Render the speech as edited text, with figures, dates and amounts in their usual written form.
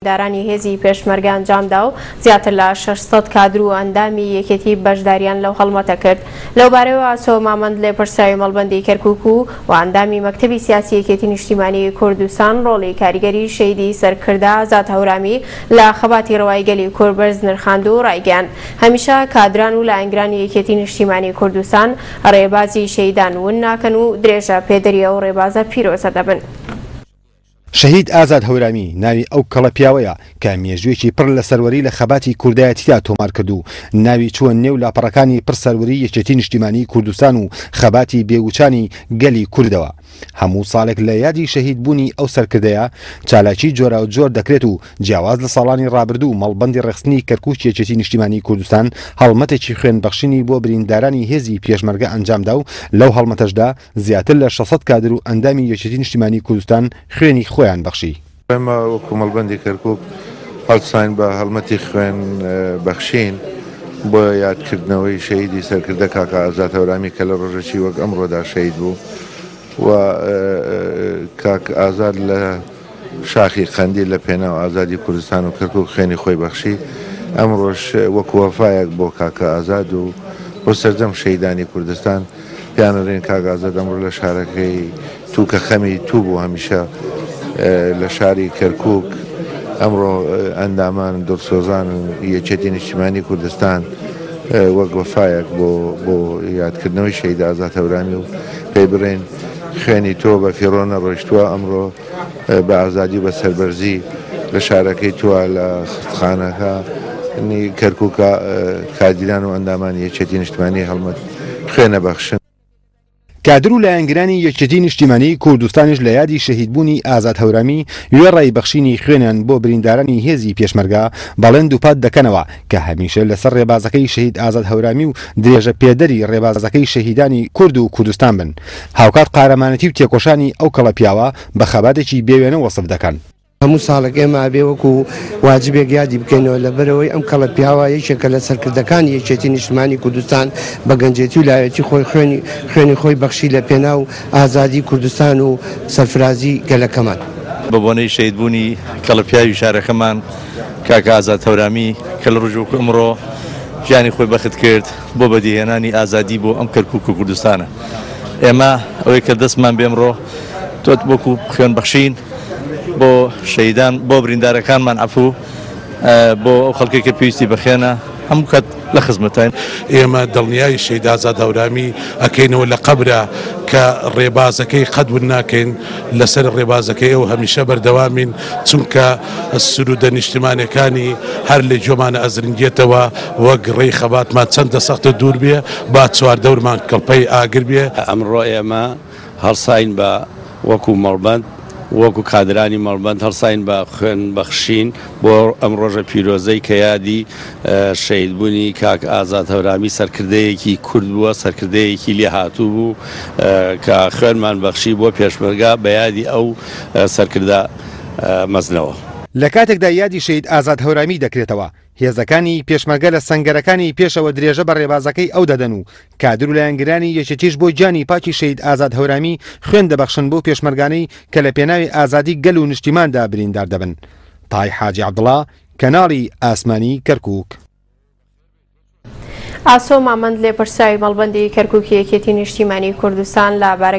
بریندارانی هێزی پێشمەرگە ئەنجامدا و زیاتر لە 600 کادر و ئەندامی یەکێتی بەشداریان لەو هەڵمەتە کرد. لەوبارەیەوە ئاسۆ مامەند لێپرسراوی مەڵبەندی کەرکوک و و ئەندامی مەکتەبی سیاسی یەکێتی نیشتیمانی کوردستان ڕۆڵی کاریگەری شەهیدی سەرکردە ئازاد هەورامی لە خەباتی ڕەوای گەلی کورد بەرز نرخاند و ڕایگەیاند هەمیشە کادران و لایەنگرانی یەکێتی نیشتیمانی کوردستان ڕێبازی شەهیدان ون ناکەن و درێژە پێدەری ئەو ڕێبازە پیرۆزە دەبن. شەهید ئازاد هەورامی ناوی ئەو کەڵە پیاوەیە کە مێژوویەکی پڕ لە سەروەری لە خەباتی کوردایەتیدا تۆمار کرد و ناوی چووە نێو لاپەڕەکانی پڕ سەروەری یەکێتی نیشتیمانیی کوردستان و خەباتی بێوچانی گەلی کوردەوە. هەموو ساڵێک لە یادی شەهید بوونی ئەو سەرکردەیە چالاکی جۆراوجۆر دەکرێت و جیاواز لە ساڵانی ڕابردوو مەڵبەندی ڕێکخستنی کەرکوکی یەکێتی نیشتیمانیی کوردستان هەڵمەتێکی خوێن بەخشینی بۆ بریندارانی هێزی پێشمەرگە ئەنجامدا و لەو هەڵمەتەشدا زیاتر لە 600 کادر و ئەندامی یەکێتی نیشتیمانیی کوردستان خوێنی خۆیان بەخشی. ئێمە وەکو مەڵبەندی کەرکوک هەڵساین بە هەڵمەتی خوێن بەخشین بۆ یادکردنەوەی شەهیدی سەرکردە کاکە ئازاد هەورامی کە لە ڕۆژێکی وەک ئەمڕۆدا شەهید بوو و کاک ئازاد لە شاخی قەندیل لە پێناو ئازادی کوردستان و کەرکوک خوێنی خۆی بەخشی، ئەمڕۆش وەکو وەفایەک بۆ کاکە ئازاد و بۆ سەرجەم شەهیدانی کوردستان پێیان ئەڵێین کاک ئازاد ئەمڕۆ لە شارەکەی تو کە خەمی تو بوو هەمیشە لە شاری کەرکوک ئەمڕۆ ئەندامان دڵسۆزان و یەکێتی نیشتیمانی کوردستان وەک وەفایەک بۆ بۆ یادکردنەوەی شەهید ئازاد هەورامی و پێی بڵێین خوێنی تۆ بە فیڕۆ نەڕۆیشتووە ئەمڕۆ بە ئازادی و بە سەربەرزی لە شارەکەی تۆ لە خستخانەکە نی کەرکوکە کادیران و ئەندامانی یەکێتی نیشتمانی هەڵمەت خوێنە بەخشن. کادر و لایەنگرانی یەکێتی نیشتیمانیی کوردستانیش لە یادی شەهیدبوونی ئازاد هەورامی وێڕای بەخشینی خوێنیان بۆ بریندارانی هێزی پێشمەرگە بەڵێن دووپات دەکەنەوە کە هەمیشە لەسەر ڕێبازەکەی شەهید ئازاد هەورامی و درێژە پێدەری ڕێبازەکەی شەهیدانی کورد و کوردستان بن. هاوکات قارەمانێتی و تێکۆشانی ئەو کەڵە پیاوە بە خەباتێکی بێ وێنە وەسف دەکەن. هەموو ساڵێک ئێمە ئەبێ وەکو واجبێک یادی بکەینەوە، لەبەرئەوەی ئەم کەڵە پیاوە یەکێکە لە سەرکردەکانی یەکێتی نیشتمانی کوردستان، بە گەنجێتی و لاوێتی خۆی خوێنی خوێنی خۆی بەخشی لە پێناو ئازادی کوردستان و سەرفرازی گەلەکەمان. بە بۆنەی شەهیدبوونی کەڵە پیاوی شارەکەمان کاک ئازاد هەورامی کە لە ڕۆژی وەکو ئەمڕۆ گیانی خۆی بەخت کرد بۆ بەدیهێنانی ئازادی بۆ ئەم کەرکوک و کوردستانە ئێمە ئەوەی کە دەستمان بێ ئەمڕۆ تۆت وەکو خوێن بەخشین بۆ شەهیدان بۆ بریندارەکانمان عەفو بۆ ئەو خەڵکێک کە پێویستی بە خوێنە هەموو کات لە خزمەتین. ئێمە دڵنیای شەهید ئازاد هەورامی ئەکەینەوە لە قەبرا کە ڕێبازەکەی قەت ون ناکەین، لەسەر ڕێبازەکەی ئەو هەمیشە بەردەوامین، چونکە سروودە نیشتیمانیەکانی هەر لە گوێمانە ئەزرنگێتەوە، وەک ڕێی خەباتمان چەندە سەخت و دوور بێ، با چواردەورمان کڵپەی ئاگر بێ. ئەمڕۆ ئێمە هەڵساین بە وەکو مەڵبەند وەکو کادرانی مەڵبەند هەڵساین بە خوێن بەخشین بۆ ئەم ڕۆژە پیرۆزەی کە یادی شەهیدبوونی کاک ئازاد هەورامی سەرکردەیەکی کورد بووە، سەرکردەیەکی لێهاتوو بوو کە خوێنمان بەخشی بۆ پێشمەرگە بە یادی ئەو سەرکردە مەزنەوە. لە کاتێکدا یادی شەهید ئازاد هەورامی دەکرێتەوە، هێزەکانی پێشمەرگە لە سەنگەرەکانی پێشەوە درێژە بە ڕێبازەکەی ئەو دەدەن و کادر و لایەنگرانی یەکێتیش بۆ گیانی پاکی شەهید ئازاد هەورامی خوێن دەبەخشن بەو پێشمەرگانەی کە لە پێناوی ئازادی گەل و نیشتیماندا بریندار دەبن. تای حاجی عەبدوڵا، کەناڵی ئاسمانی کەرکوک. ئاسۆ مامەند لێپرسراوی مەڵبەندی کەرکوکی یەکێتی نیشتیمانی کوردستان لە بارەگای.